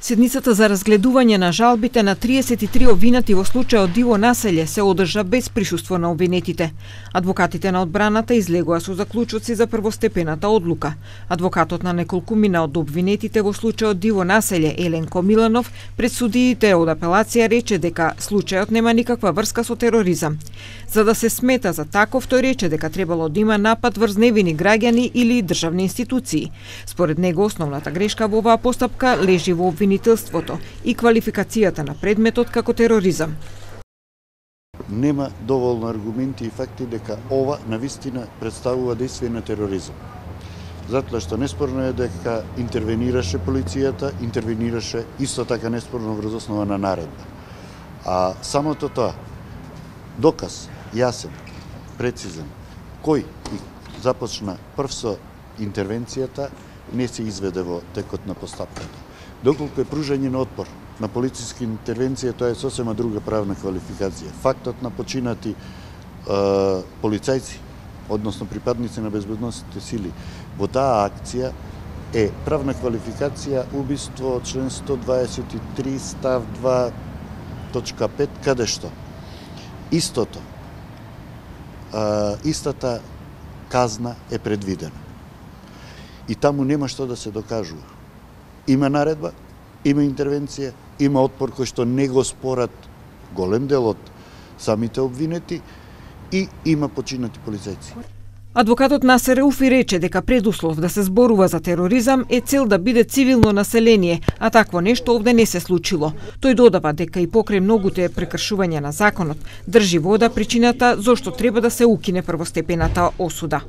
Седницата за разгледување на жалбите на 33 обвинети во случајот Диво населје се одржа без присуство на обвинетите. Адвокатите на одбраната излегоа со заклучоци за првостепената одлука. Адвокатот на неколкумина од обвинетите во случајот Диво населје, Еленко Миланов, пред судиите од апелација рече дека случајот нема никаква врска со тероризам. За да се смета за таков, тој рече дека требало да има напад врз невини граѓани или државни институции. Според него основната грешка во оваа постапка лежи во обвинителството и квалификацијата на предметот како тероризам. Нема доволно аргументи и факти дека ова навистина представува дејство на тероризам. Затоа што неспорно е дека интервенираше полицијата, интервенираше исто така неспорно врз основа на наредба. А самото тоа, доказ, јасен, прецизен, кој започна прв со интервенцијата, не се изведе во текот на постапката. Доколку е пружање на отпор на полициска интервенција, тоа е сосема друга правна квалификација. Фактот на починати полицајци, односно припадници на безбедносните сили, во таа акција е правна квалификација убиство од член 123 став 2.5, каде што истото, истата казна е предвидена. И таму нема што да се докажува. Има наредба, има интервенција, има отпор кој што не го спорат голем дел од самите обвинети и има починати полицајци. Адвокатот Насер Уфи рече дека предуслов да се зборува за тероризам е цел да биде цивилно население, а такво нешто овде не се случило. Тој додава дека и покрај многуте прекршувања на законот, држи вода причината зошто треба да се укине првостепената осуда.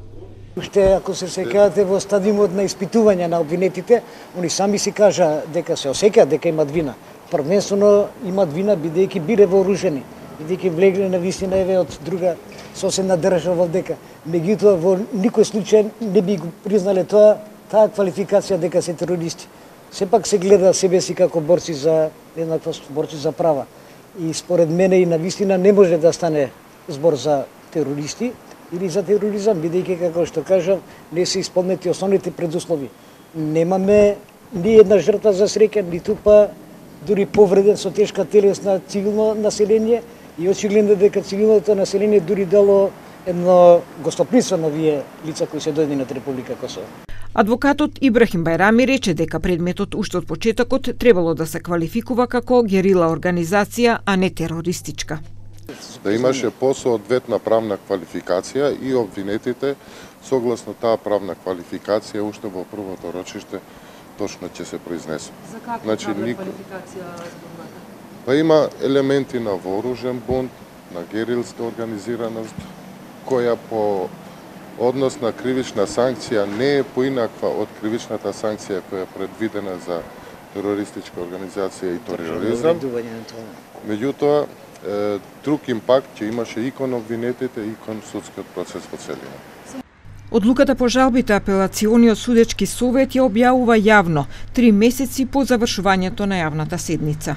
Уште ако се сеќавате во стадиумот на испитување на обвинетите, они сами си кажа дека се осеќаат дека имат вина. Првенствено имат вина бидејќи биле вооружени, бидејќи влегле на вистина еве од друга соседна држава дека. Меѓутоа во никој случај не би го признале таа квалификација дека се терористи. Сепак се гледа себе си како борци за еднаквост, борци за права. И според мене и на вистина не може да стане збор за терористи или за тероризам, бидејќи, како што кажав, не се исполнети основните предуслови. Немаме ни една жртва за среќа, ниту па дури повреден со тешка телесна цивилно население и очигледно дека цивилното население дури дало едно гостопримство на овие лица кои се дојдени на Република Косово. Адвокатот Ибрахим Бајрами рече дека предметот уште од почетокот требало да се квалификува како герила организација, а не терористичка. Да имаше посоодветна правна квалификација и обвинетите согласно таа правна квалификација уште во првото рочиште точно ќе се произнесат. За каква правна квалификација зборувате? Па има елементи на вооружен бунт, на герилска организираност, која по однос на кривична санкција не е поинаква од кривичната санкција која е предвидена за терористичка организација и тероризам. Меѓутоа, друг импакт ќе имаше и кон обвинетите и кон судскиот процес во целина. Одлуката по жалбите апелациониот судечки совет ја објавува јавно 3 месеци по завршувањето на јавната седница.